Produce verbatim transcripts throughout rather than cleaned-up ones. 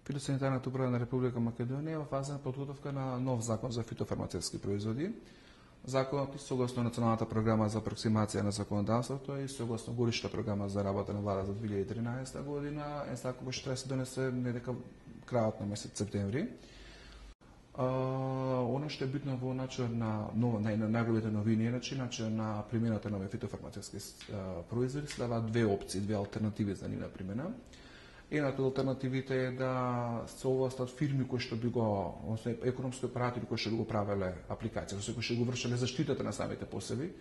Фитосанитарната управа на Република Македонија е во фаза на подготовка на нов закон за фитофармацевтски производи. Законот и согласно Националната програма за апроксимација на законодавството и согласно годишната програма за работа на влада за две илјади и тринаесета година е закон кој што треба да се донесе недека крајот на месец септември. Uh, Оно што е битно во начинот на нова на најголемите новини е начинот на примената на фитофармацевтски uh, производи следуваат две опции, две алтернативи за нивна примена. Едната од алтернативите е да се овластат фирми кои што би го, односно економски оператори кои што би го правеле апликација, кои што го вршеле заштитата на самите посеви.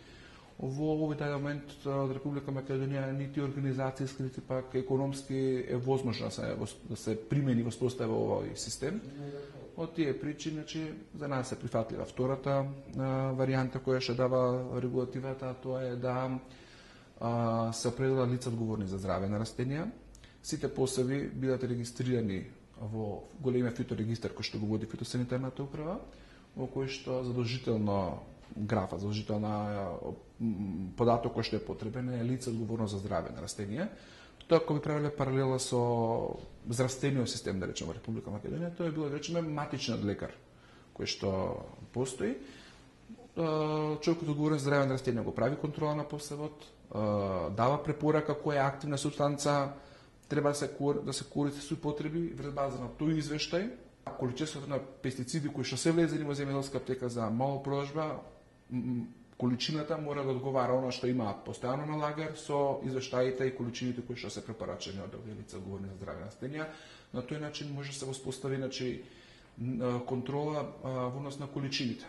Во овој момент од Република Македонија нити организацијски, нити пак економски е возможно да се, да се примени во спостави овој систем. Од тие причини, значи, за нас е прифатлива втората а, варијанта која што дава регулативата, тоа е да а, се определат лица одговорни за здраве на растенија. Сите посеви бидат регистрирани во големиот фиторегистар кој што го води фитосанитарната управа, во кој што задолжително графа, задолжителна податок кој што е потребен е лице одговорно за здраве на растенија. Тоа кога би правиле паралела со здравствениот систем, да речеме, во Република Македонија, тоа е било, да речеме, матичниот лекар кој што постои. Човекот одговорен за здраве на растенија го прави контрола на посевот, дава препорака која активна супстанца треба да се да се користи со потреби врз база на тој извештај. Количеството на пестициди кои што се влезени во земјоделска аптека за мала продажба, количината мора да одговара она што имаат постојано на лагер со извештаите и количините кои што се препорачани од овие лица одговорни за здраве на растенија. На тој начин може да се воспостави, значи, контрола во однос на количините.